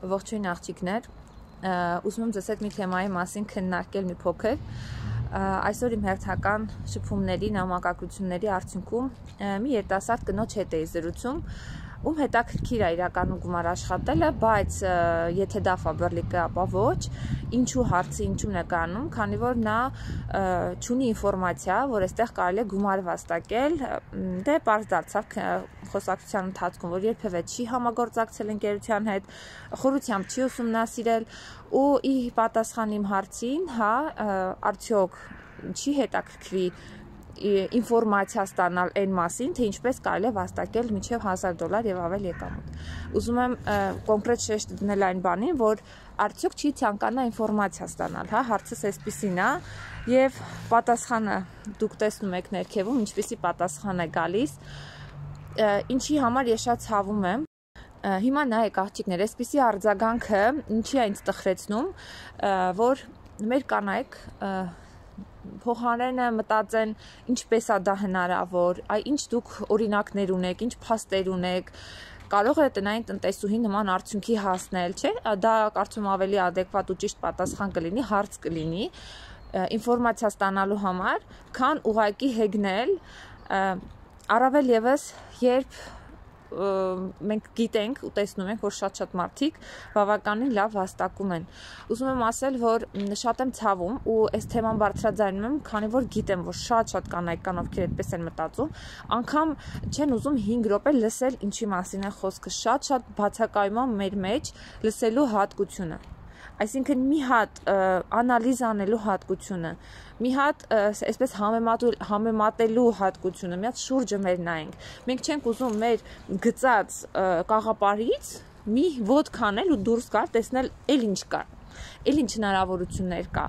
Ողջույն աղջիկներ, ուզում եմ ձեզ հետ մի թեմայի մասին քննարկել մի փոքր։ Այսօր իմ հերթական շփումների, նամակագրությունների արդյունքում մի երիտասարդ կնոջ հետ էի զրուցում, ում հետաքրքիր է իրականում գումար աշխատելը, բայց եթե դա ֆաբրիկը, ապա ոչ, ինչու հարցի ինչու նկարանում, քանի որ նա չունի ինֆորմացիա, որ այստեղ կարելի է գումար վաստակել, դե պարզ դարձավ խոսակցության ընթացքում, որ երբևէ չի համագործակցել ընկերության հետ, խորությամբ չի ուսումնասիրել ու ի պատասխան իմ հարցին, արդյոք չի հետաքրքրի ինֆորմացիա ստանալ այն մասին, թե ինչպես կարելի է վաստակել մինչև $1000 եւ ավել եկամուտ։ Ուզում եմ կոնկրետ շեշտ դնել այն բանին, որ արդյոք չի ցանկանա ինֆորմացիա ստանալ, հարցս այսպեսին է, եւ պատասխանը դուք տեսնում եք ներքևում, ինչպեսի պատասխան է գալիս, ինչի համար ես շատ ցավում եմ։ Հիմա նայեք աղջիկներ, այսպեսի արձագանքը ինչի է ինձ տխրեցնում, որ մեր կանայք փոխարենը մտածեն ինչպես է դա հնարավոր, ինչ դուք օրինակներ ունեք, ինչ փաստեր ունեք, կարող է տնային տնտեսուհի նման արդյունքի հասնել, չէ՞, դա կարծում ավելի adekvat ու ճիշտ պատասխան կլինի, հարց կլինի ինֆորմացիա ստանալու համար, քան ուղղակի հեգնել, առավել եւս երբ մենք գիտենք ու տեսնում ենք, որ շատ մարդիկ բավականին լավ վաստակում են։ Ուզում եմ ասել, որ շատ եմ ցավում ու այս թեման բարձրաձայնում եմ, քանի որ գիտեմ, որ շատ կանայք կան, ովքեր այդպես են մտածում, անգամ չեն ուզում 5 րոպե լսել ինչի մասին է խոսքը, շատ բացակայում է մեր մեջ լսելու հատկությունը։ Այսինքն մի հատ անալիզ անելու հատկությունը, մի հատ այսպես համեմատելու հատկությունը, մի հատ շուրջը մեր նայենք։ Մենք չենք ուզում մեր գծած կաղապարից մի ոտք անել ու դուրս գալ, տեսնել էլ ինչ կա, էլ ինչ հնարավորություններ կա։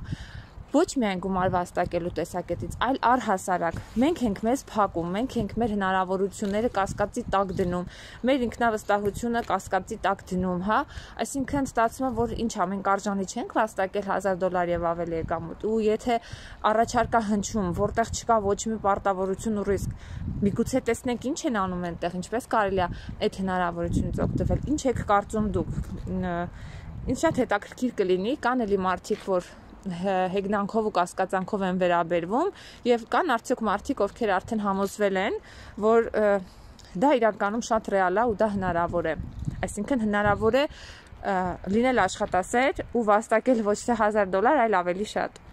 Ոչ միայն գումար վաստակելու տեսակետից, այլ առհասարակ մենք ենք մեզ փակում, մենք ենք մեր հնարավորությունները կասկածի տակ դնում, մեր ինքնավստահությունը կասկածի տակ դնում, այսինքն ստացվում է, որ ինչա, մենք արժանի չենք վաստակել $1000 եւ ավել եկամուտ, ու եթե առաջարկա հնչում, որտեղ չկա ոչ մի պարտավորություն ու ռիսկ, միգուցե տեսնենք ինչ են անում այնտեղ, ինչպես կարելի է այդ հնարավորությունից օգտվել, ինչ եք կարծում դուք։ Ինձ շատ հետաքրքիր կլինի, կան էլի մարդիկ, որ հեգնանքով ու կասկածանքով են վերաբերվում եւ կան արդյոք մարդիկ, ովքեր արդեն համոզվել են, որ դա իրականում շատ ռեալ է ու դա հնարավոր է։ Այսինքն հնարավոր է լինել աշխատասեր ու վաստակել ոչ թե $1000, այլ ավելի շատ։